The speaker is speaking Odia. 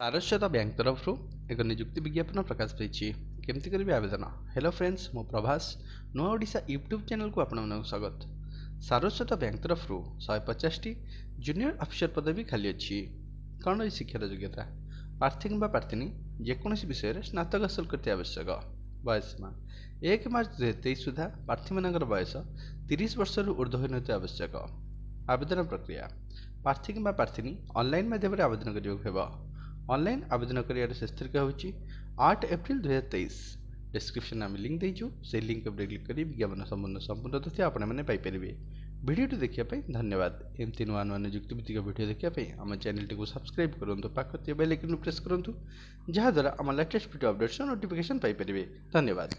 ସାରସ୍ୱତ ବ୍ୟାଙ୍କ ତରଫରୁ ଏକ ନିଯୁକ୍ତି ବିଜ୍ଞାପନ ପ୍ରକାଶ ପାଇଛି। କେମିତି କରିବେ ଆବେଦନ? ହ୍ୟାଲୋ ଫ୍ରେଣ୍ଡସ୍, ମୁଁ ପ୍ରଭାସ, ନୂଆ ଓଡ଼ିଶା ୟୁଟ୍ୟୁବ୍ ଚ୍ୟାନେଲକୁ ଆପଣମାନଙ୍କୁ ସ୍ୱାଗତ। ସାରସ୍ୱତ ବ୍ୟାଙ୍କ ତରଫରୁ 150ଟି ଜୁନିୟର ଅଫିସର ପଦବୀ ଖାଲି ଅଛି। କ'ଣ ରହିଛି ଶିକ୍ଷାର ଯୋଗ୍ୟତା? ପ୍ରାର୍ଥୀ କିମ୍ବା ପ୍ରାର୍ଥିନୀ ଯେକୌଣସି ବିଷୟରେ ସ୍ନାତକ ହାସଲ କରିଥିବା ଆବଶ୍ୟକ। ବୟସ ସୀମା 1 ମାର୍ଚ୍ଚ 2023 ସୁଦ୍ଧା ପ୍ରାର୍ଥୀମାନଙ୍କର ବୟସ 30 ବର୍ଷରୁ ଉର୍ଦ୍ଧ୍ୱ ହୋଇନଥିବା ଆବଶ୍ୟକ। ଆବେଦନ ପ୍ରକ୍ରିୟା: ପ୍ରାର୍ଥୀ କିମ୍ବା ପ୍ରାର୍ଥିନୀ ଅନଲାଇନ୍ ମାଧ୍ୟମରେ ଆବେଦନ କରିବାକୁ ହେବ। ଅନଲାଇନ୍ ଆବେଦନ କରିବାର ଶେଷ ତାରିଖ ହେଉଛି 8 ଏପ୍ରିଲ 2023। ଡିସ୍କ୍ରିପ୍ସନ୍ ଆମେ ଲିଙ୍କ୍ ଦେଇଛୁ, ସେଇ ଲିଙ୍କ୍ ଉପରେ କ୍ଲିକ୍ କରି ବିଜ୍ଞାପନ ସମ୍ପୂର୍ଣ୍ଣ ସମ୍ପୂର୍ଣ୍ଣ ତଥ୍ୟ ଆପଣମାନେ ପାଇପାରିବେ। ଭିଡ଼ିଓଟି ଦେଖିବା ପାଇଁ ଧନ୍ୟବାଦ। ଏମିତି ନୂଆ ନୂଆ ନିଯୁକ୍ତି ଭିତ୍ତିକ ଭିଡ଼ିଓ ଦେଖିବା ପାଇଁ ଆମ ଚ୍ୟାନେଲଟିକୁ ସବସ୍କ୍ରାଇବ୍ କରନ୍ତୁ, ପାଖ ଥିବା ବେଲ୍ ଆଇକନ୍କୁ ପ୍ରେସ୍ କରନ୍ତୁ, ଯାହାଦ୍ୱାରା ଆମ ଲାଟେଷ୍ଟ ଭିଡ଼ିଓ ଅପଡ଼େଟ୍ସର ନୋଟିଫିକେସନ୍ ପାଇପାରିବେ। ଧନ୍ୟବାଦ।